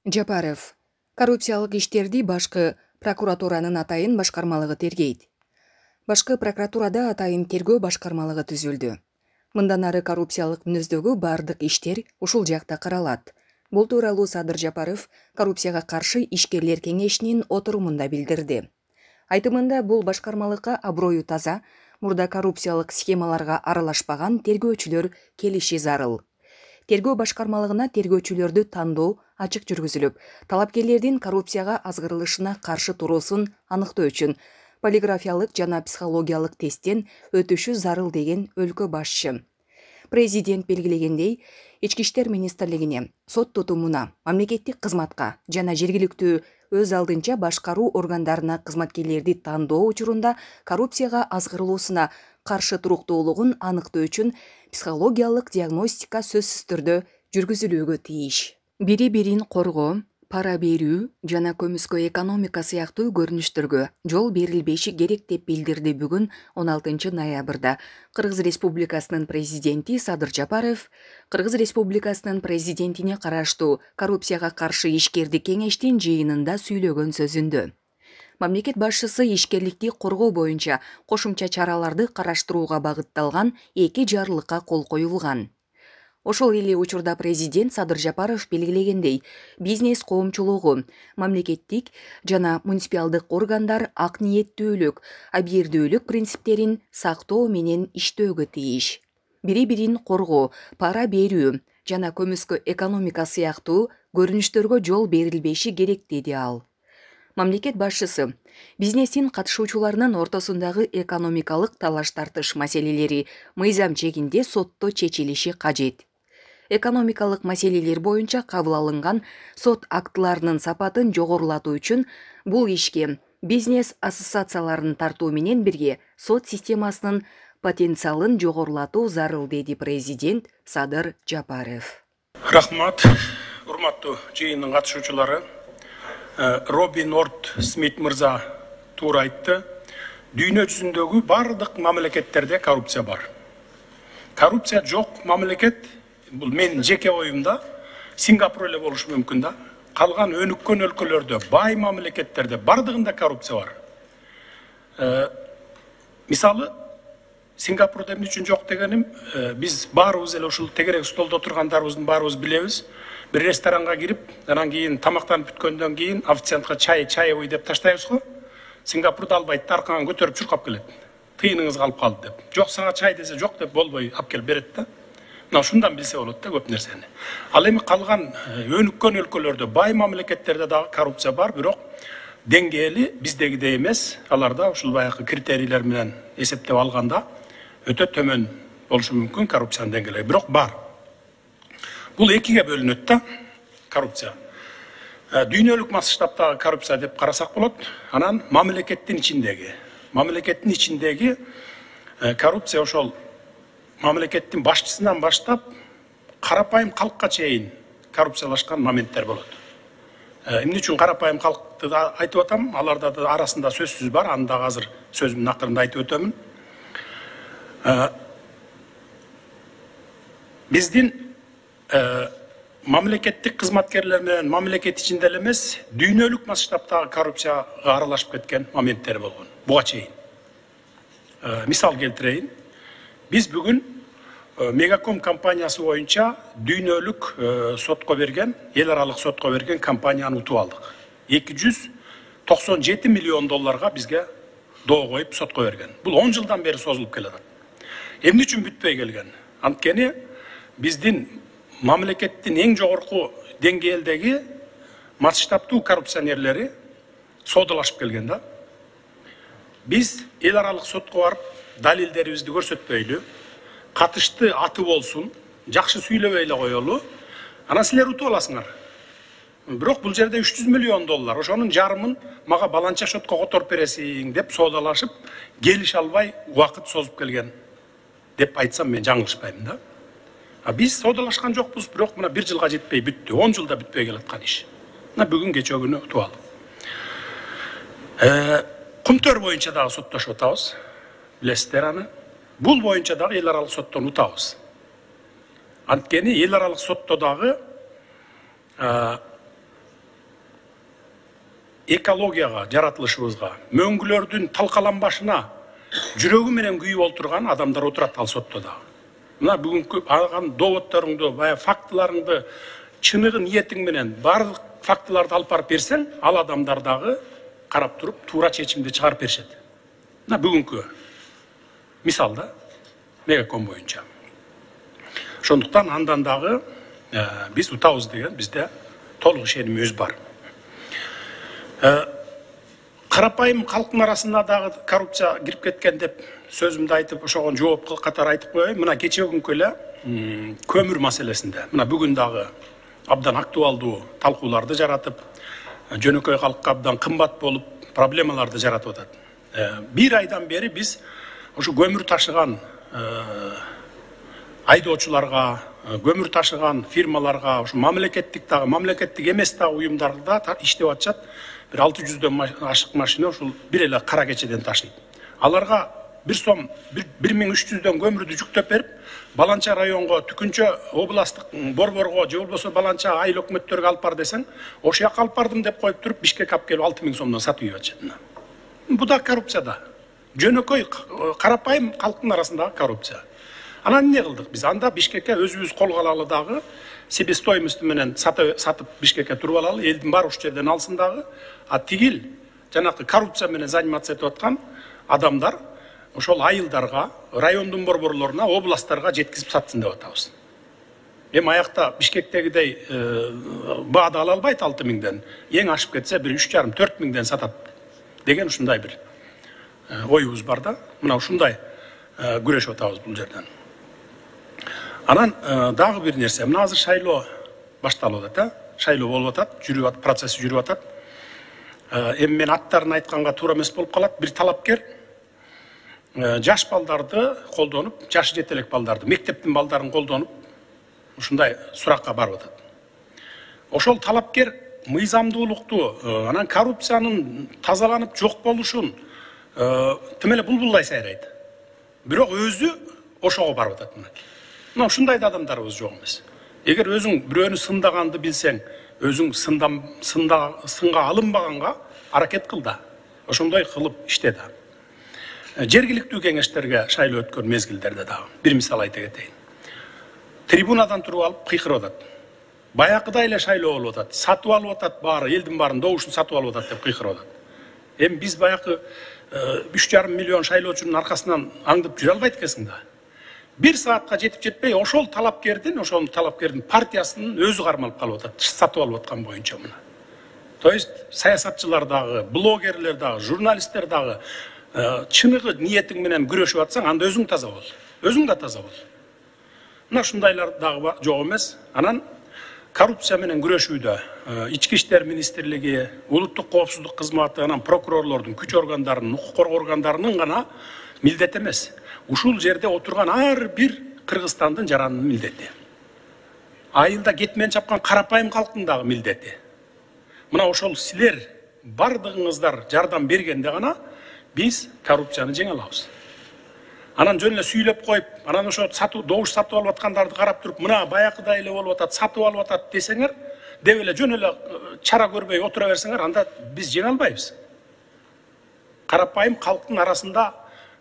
Жапаров. Коррупциялык иштерди башкы прокуратуранын атайын башкармалыгы тергейт. Башкы прокуратурада атайын тергөө башкармалыгы түзүлдү. Мындан ары коррупциялык мүнөздөгү бардык иштер ушул жакта каралат. Бул тууралуу Садыр Жапаров коррупцияга каршы ишкерлер кеңешинин отурумунда билдирди. Айтымында бул башкармалыкка аброю таза, мурда коррупциялык схемаларга аралашпаган тергөөчүлөр келиши зарыл. Тергөө башкармалыгына тергөөчүлөрдү тандоо ачык жүргүзүлүп, талапкерлердин коррупцияга азгырылышына каршы туруусун аныктоо үчүн полиграфиялык жана психологиялык тесттен өтүшү зарыл деген өлкө башчы. Президент белгилегендей, Ички иштер министрлигине, сот тутумуна, мамлекеттик кызматка жана жергиликтүү өз алдынча башкаруу органдарына кызматкерлерди тандоо учурунда коррупцияга азгырылуусуна каршы туруктуулугун аныктоо үчүн психологиялык диагностика сөзсүз түрдө жүргүзүлүүгө тийиш. Бири-бирин коргоо, пара берүү жана көмүскө экономика сыяктуу көрүнүштөргө жол берилбеши керек деп билдирди бүгүн 16 ноябрда Кыргыз Республикасынын президенти Садыр Жапаров Кыргыз Республикасынын президентине караштуу коррупцияга каршы ишкерди кеңештин жыйынында сүйлөгөн сөзүндө. Мамлекет башчысы ишкерликти коргоо боюнча кошумча чараларды караштырууга багытталган 2 жарлыкка кол коюлган. Ошол эле учурда президент Садыр Жапаров белгилегендей, бизнес коомчулугу, мамлекеттик жана муниципалдык органдар ак ниеттүүлүк, абийирдүүлүк принциптерин сактоо менен иштөөгө тийиш. Бири-бирин коргоо, пара берүү жана көмүскө экономика сыяктуу көрүнүштөргө жол берилбеши керек деди ал. Мамлекет башчысы бизнестин катышуучуларынын ортосундагы экономикалык талаш-тартыш маселелери мыйзам чегинде сотто чечилиши кажет. Экономикалык маселелер боюнча кабыл алынган сот актыларынын сапатын жогорулатуу үчүн бул ишке бизнес ассоциацияларын тартуу менен бирге сот системасынын потенциалын жогорулатуу зарыл деди президент Садыр Жапаров. Рахмат, урматтуу жыйындын катышуучулары. Робин Орд Смит мырза туура айтты. Дүйнө жүзүндөгү бардык мамлекеттерде коррупция бар. Коррупция жок мамлекет, бул менин жеке оюмда, Сингапур эле болушу мүмкүн да. Калган өнүккөн өлкөлөрдө, бай мамлекеттерде бардыгында коррупция бар. Мисалы, Сингапурда эмне үчүн жок дегеним, биз баарыбыз эле ушул тегерек столдо отургандарыбыздын баарыбыз билебиз. Bir ресторанга кирип, анан кийин тамактанып бүткөндөн кийин официантка чаевый деп таштайбыз го. Сингапурда албайт, аркаңан көтөрүп чуркап келет. Тыйыныңыз калып калды деп. Жок сага чай десе жок деп болбой алып келип берет да. Мына ушундан билсе болот да көп нерсени. Ал эми калган өнүккөн өлкөлөрдө, бай мамлекеттерде дагы коррупция бар, бирок деңгээли биздегидей эмес. Аларда ушул баягы критерийлер менен эсептеп алганда өтө төмөн болушу мүмкүн коррупциянын деңгээли, бирок бар. Бул экиге бөлүнөт да коррупция. Дүйнөлүк масштабтагы коррупция деп карасак болот. Анан мамлекеттин ичиндеги коррупция ошол мамлекеттин башчысынан баштап карапайым калкка чейин коррупциялашкан моменттер болот. Эмне үчүн карапайым калкты айтып атам? Аларда да арасында сөзсүз бар, аны дагы азыр сөзүмдүн акырында айтып өтөмүн. Биздин мамлекеттик кызматкерлер менен мамлекет ичинде эле эмес, дүйнөлүк масштабтагы коррупцияга аралашып кеткен моменттер болгон. Буга чейин. Мисал келтирейин. Биз бүгүн Мегаком компаниясы боюнча дүйнөлүк сотко берген, эл аралык сотко берген компанияны утуп алдык. 297 миллион долларга бизге доо коюп сотко берген. Бул 10 жылдан бери созулуп келет. Эмне үчүн бүтпөй келген? Анткени биздин мамлекеттин эң жогорку деңгээлдеги масштабтуу коррупционерлери соодалашып келген да. Биз эл аралык сотко барып далилдерибизди көрсөтпөйлү, катышты аты болсун, жакшы сүйлөбөй эле коелу, анан силер утуп аласыңар. Бирок бул жерде 300 миллион доллар, ошонун жарымын мага баланча шотко которуп бересиң деп соодалашып, келише албай убакыт созуп келген деп айтсам мен жаңылышпайм да. Биз соодалашкан жокпуз, бирок мына 1 жылга жетпей бүттү, 10 жылда бүтпөй келаткан иш. Мына бүгүн кечээ күнү утуп алдык. Кумтөр боюнча дагы соттошуп атабыз. Билесиздер аны. Бул боюнча дагы эл аралык соттон утабыз. Анткени эл аралык сотто дагы экологияга, жаратылышыбызга, мөңгүлөрдүн талкаланбашына жүрөгү менен күйүп олтурган адамдар отурат ал сотто дагы. Мына бүгүнкү алган доводторуңду, баягы фактыларыңды чыныгы ниетиң менен бардык фактыларды алып барып берсең, ал адамдар дагы карап туруп туура чечимди чыгарып беришет. Мына бүгүнкү мисалда Мегаком боюнча. Ошондуктан андан дагы биз утабыз деген бизде толук ишенимибиз бар. Карапайым калктын арасында дагы коррупция кирип кеткен деп сөзүмдү айтып, ошого жооп катары айтып коеюн. Мына кечеөгүнкү эле көмүр маселесинде, мына бүгүн дагы абдан актуалдуу талкууларды жаратып, жөнөкөй калкка абдан кымбат болуп, проблемаларды жаратып атат. Бир айдан бери биз ошо көмүр ташыган айдоочуларга, көмүр ташыган фирмаларга, ошо мамлекеттик дагы, мамлекеттик эмес дагы уюмдарда иштеп атышат. Бир 600дөн ашык машина ошол бир эле кара кечеден ташыйт. Аларга 1300дөн көмүрдү жүктөп берип, Баланча районго, Түкүнчө областтык борборго, же болбосо Баланча айыл өкмөттөргө алып бар десең, ошол жака алып бардым деп коюп туруп, Бишкекке алып келип 6000 сомдон сатып ийип атышат. Бу да коррупция да. Жөнөкөй карапайым калктын арасындагы коррупция. Анан эмне кылдык биз? Анда Бишкекке өзүбүз колго алалы дагы, себестоимость менен сатып Бишкекке туруп алалы, элдин баары ушул жерден алсын дагы. А тигил жанакы коррупция менен заниматься этип аткан адамдар ошол айылдарга, райондун борборлоруна, областтарга жеткизип сатсын деп атабыз. Эми аякта Бишкектегидей баада ала албайт 6000ден. Эң ашып кетсе бир 3,5-4 миңден сатат деген ушундай бир оюбуз бар да. Мына ушундай күрөшүп атабыз бул жерден. Анан дагы бир нерсе, мына азыр шайлоо башталып атат, шайлоо болуп атат, жүрүп атат, процесси жүрүп атат. Эми мен аттарын айтканга туура эмес болуп калат. Бир талапкер жаш балдарды колдонуп, жашы жете элек балдарды, мектептин балдарын колдонуп, ушундай суракка барып атат. Ошол талапкер мыйзамдуулукту, анан коррупциянын тазаланып жок болушун тим эле булбулдай сайрайт. Бирок өзү ошого барып атат. Мына ушундай да адамдарыбыз жок эмес. Эгер өзүң бирөөнү сындаганды билсең, өзүң сынга алынбаганга аракет кыл да. Ошондой кылып иште да. Жергиликтүү кеңештерге шайлоо өткөн мезгилдерде дагы бир мисал айта кетейин. Трибунадан туруп алып кыйкырып атат. Баякыдай эле шайлоо болуп атат. Сатып алып атат баары, элдин баарын добушун сатып алып атат деп кыйкырып атат. Эми биз баякы 3,5 миллион шайлоочунун аркасынан аңдып жүрө албайт экенсиң да. 1 саатка жетип жетпей ошол талапкердин партиясынын өзү кармалып калып атат, сатып алып аткан боюнча мына. То есть саясатчылар дагы, блогерлер дагы, журналисттер дагы чыныгы ниетиң менен күрөшүп атсаң, анда өзүң таза бол. Өзүң да таза бол. Мына ушундайлар дагы жок эмес. Анан коррупция менен күрөшүүдө Ички иштер министрлиги, улуттук коопсуздук кызматы, анан прокурорлордун, күч органдарынын, укук коргоо органдарынын гана милдети эмес. Ушул жерде отурган ар бир Кыргызстандын жаранынын милдети. Айылда кетмен чапкан карапайым калктын дагы милдети. Мына ошол силер бардыгыңыздар жардам бергенде гана биз коррупцияны жеңе алабыз. Анан жөн эле сүйлөп коюп, анан ошо добуш сатып алып аткандарды карап туруп, мына баякыдай эле болуп атат, сатып алып атат десеңер, деп эле жөн эле чара көрбөй отура берсеңер, анда биз жеңе албайбыз. Карапайым калктын арасында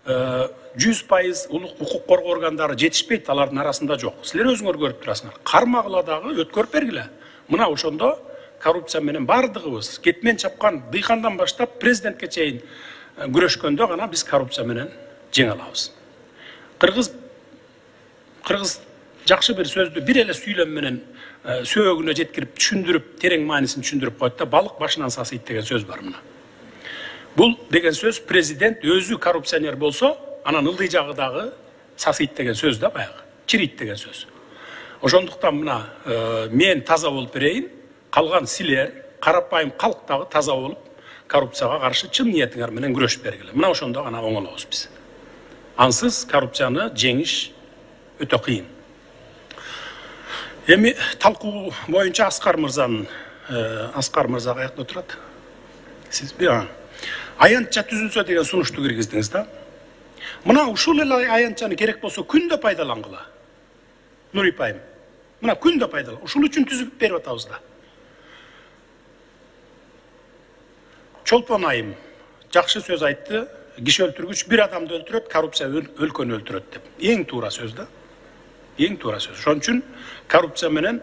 100% укук коргоо органдары жетишпейт, алардын арасында жок. Силер өзүңөр көрүп турасыңар. Кармагыла дагы өткөрүп бергиле. Мына ошондо коррупция менен бардыгыбыз кетмен чапкан дыйкандан баштап президентке чейин күрөшкөндө гана биз коррупция менен жеңе алабыз. Кыргыз жакшы бир сөздү бир эле сүйлөм менен сөөгүнө жеткирип түшүндүрүп, терең маанисин түшүндүрүп коет да, балык башынан сасыйт деген сөз бар мына. Бул деген сөз президент өзү коррупционер болсо, анан ылдый жагы дагы сасыйт деген сөз да баягы, чирийт деген сөз. Ошондуктан мына мен таза болуп берейин, калган силер карапайым калк дагы таза болуп, коррупцияга каршы чын ниетиңер менен күрөшүп бергиле. Мына ошондо гана оңолобуз биз. Ансыз коррупцияны жеңиш өтө кыйын. Эми талкуу боюнча Аскар мырза каякта отурат? Сиз аянтча түзүлсө деген сунушту киргиздиңиз да. Мына ушул эле аянтчаны керек болсо күндө пайдалангыла. Нури Пайым. Мына күндө пайдалан. Ушул үчүн түзүп берип атабыз да. Чолпон Айым жакшы сөз айтты. Киши өлтүргүч бир адамды өлтүрөт, коррупция өлкөнү өлтүрөт деп. Эң туура сөз да. Эң туура сөз. Ошон үчүн коррупция менен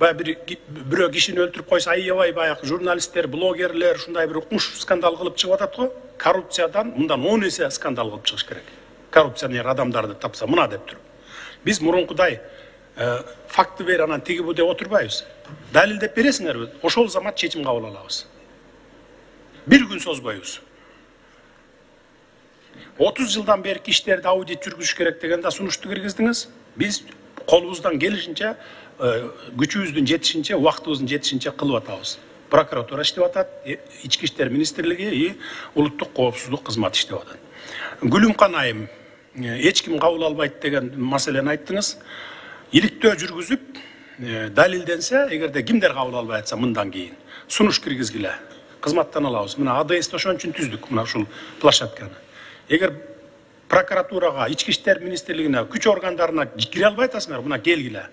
бирөө кишини өлтүрүп койсо, аябай баягы журналисттер, блогерлер ушундай бир укмуш скандал кылып чыгып атат го. Коррупциядан мындан 10 эсе скандал кылып чыгыш керек. Коррупционер адамдарды тапса мына деп туруп. Биз мурункудай факты бер анан тиги бу деп отурбайбыз. Далилдеп бересиңерби? Ошол замат чечим кабыл алабыз. Бир күн созбойбуз. 30 жылдан берки иштерди аудит жүргүзүш керек дегенде сунушту киргиздиңиз. Биз колубуздан келишинче, күчүбүздүн жетишинче, убактыбыздын жетишинче кылып атабыз. Прокуратура иштеп атат, Ички иштер министрлиги, улуттук коопсуздук кызматы иштеп атат. Гүлүмкан Айым эч ким кабыл албайт деген маселени айттыңыз. Иликтөө жүргүзүп, далилденсе, эгерде кимдер кабыл албай атса мындан кийин сунуш киргизгиле. Кызматтан алабыз. Мына АДС ошон үчүн түздүк мына ушул площадканы. Эгер прокуратурага, Ички иштер министрлигине, күч органдарына кире албай атасыңар, мына келгиле.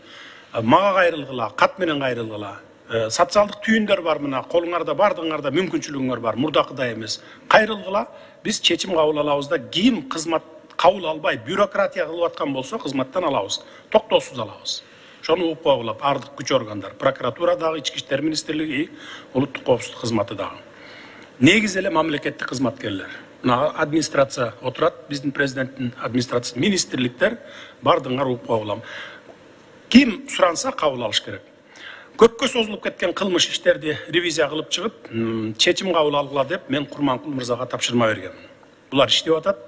Мага кайрылгыла, кат менен кайрылгыла. Социалдык түйүндөр бар, мына колуңарда, бардыгыңарда мүмкүнчүлүгүңөр бар, мурдакыдай эмес. Кайрылгыла, биз чечим кабыл алабыз да, ким кызмат кабыл албай, бюрократия кылып аткан болсо, кызматтан алабыз. Токтоосуз алабыз. Ошону угуп койгула бардык күч органдар, прокуратура дагы, Ички иштер министрлиги, улуттук коопсуздук кызматы дагы. Негизи эле мамлекеттик кызматкерлер. Мына администрация отурат, биздин президенттин администрациясы, министрликтер бардыгыңар угуп койгула. Ким суранса кабыл алыш керек. Көпкө созулуп кеткен кылмыш иштерди ревизия кылып чыгып, чечим кабыл алгыла деп мен Курманкул мырзага тапшырма бергенмин. Булар иштеп атат.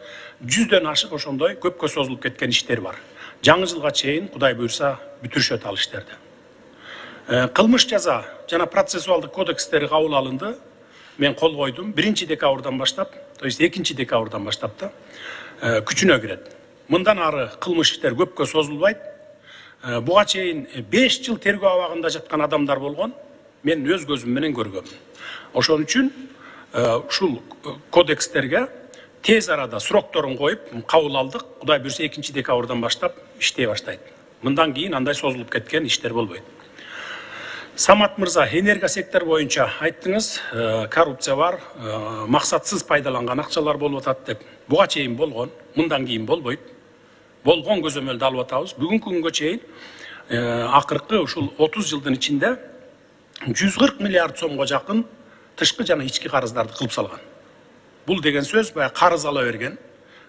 100дөн ашык ошондой көпкө созулуп кеткен иштер бар. Жаңы жылга чейин Кудай буйрса бүтүрүшөт ал иштерди. Кылмыш жаза жана процессуалдык кодекстери кабыл алынды. Мен кол койдум. 1-декабрдан баштап, то есть 2-декабрдан баштап да күчүнө кирет. Мындан ары кылмыш иштер көпкө созулбайт. Буга чейин 5 жыл тергөө абагында жаткан адамдар болгон. Мен өз көзүм менен көргөмүн. Ошон үчүн ушул кодекстерге тез арада срокторун коюп кабыл алдык. Кудай буйрса 2-декабрдан баштап иштей баштайт. Мындан кийин андай созулуп кеткен иштер болбойт. Самат мырза, энерго сектор боюнча айттыңыз, коррупция бар, максатсыз пайдаланган акчалар болуп атат деп. Буга чейин болгон, мындан кийин болбойт. Болгон көзөмөлдү алып атабыз. Бүгүнкү күнгө чейин акыркы ушул 30 жылдын ичинде 140 миллиард сомго жакын тышкы жана ички карыздарды кылып салган. Бул деген сөз баягы карыз ала берген,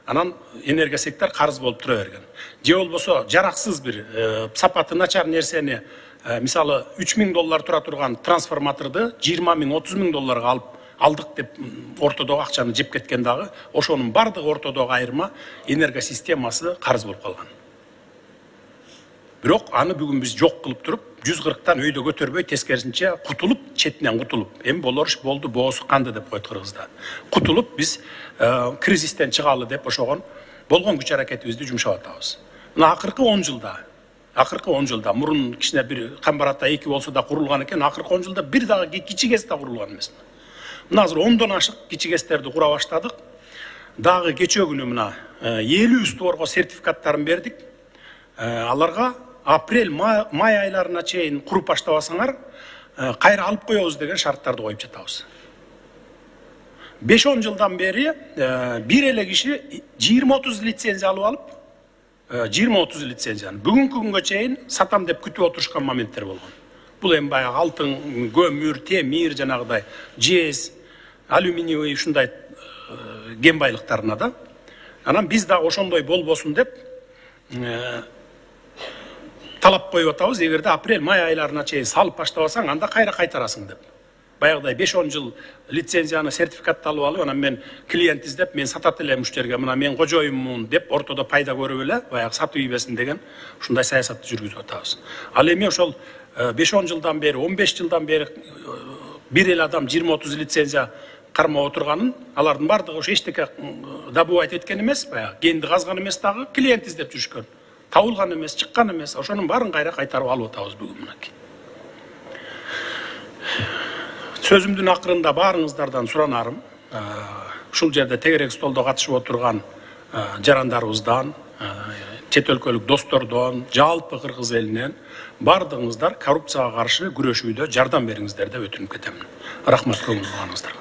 анан энерго сектор карыз болуп тура берген. Же болбосо жараксыз бир сапаты начар нерсени, мисалы $3000 тура турган трансформаторду 20 000, 30 000 долларга алдык деп ортодогу акчаны жеп кеткен дагы, ошонун бардыгы ортодогу айырма энерго системасы карыз болуп калган. Бирок аны бүгүн биз жок кылып туруп, 140тан өйдө көтөрбөй, тескерисинче кутулуп, четинен кутулуп, эми болор иш болду, боосу канды деп койт кыргызда. Кутулуп биз кризистен чыгалы деп ошогон болгон күч аракетибизди жумшап атабыз. Мына акыркы 10 жылда мурун кичине бир Камбарата 2 болсо да курулган экен, акыркы 10 жылда бир дагы кичи КЭС да курулган эмес. Мына азыр 10дон ашык кичи КЭСтерди кура баштадык. Дагы кечээ күнү мына 50 створго сертификаттарын бердик. Аларга апрель, май айларына чейин куруп баштабасаңар, кайра алып коебуз деген шарттарды коюп жатабыз. 5-10 жылдан бери бир эле киши 20-30 лицензия алып алып, 20-30 лицензияны бүгүнкү күнгө чейин сатам деп күтүп отурушкан моменттер болгон. Бул эми баягы алтын, көмүр, темир, жанагыдай жез, алюминиевый ушундай кен байлыктарына да. Анан биз дагы ошондой болбосун деп талап коюп атабыз. Эгерде апрель, май айларына чейин салып баштабасаң, анда кайра кайтарасың деп. Баягыдай 5-10 жыл лицензияны, сертификатты алып, анан мен клиент издеп, мен сатат элем уштерге, мына мен кожоюммун деп ортодо пайда көрүп эле, баягы сатып ийбесин деген ушундай саясатты жүргүзүп атабыз. Ал эми ошол 5-10 жылдан бери, 15 жылдан бери бир эле адам 20-30 лицензия кармап отурганын, алардын бардыгы ошо эчтеке добывать эткен эмес, баягы кенди казган эмес, дагы клиент издеп жүрүшкөн. Табылган эмес, чыккан эмес, ошонун баарын кайра кайтарып алып атабыз бүгүн мынакей. Сөзүмдүн акырында баарыңыздардан суранарым, ушул жерде тегерек столдо катышып отурган жарандарыбыздан, чет өлкөлүк достордон, жалпы кыргыз элинен бардыгыңыздар коррупцияга каршы күрөшүүдө жардам бериңиздер деп өтүнүп кетемин. Рахмат, көңүл бурганыңыздарга.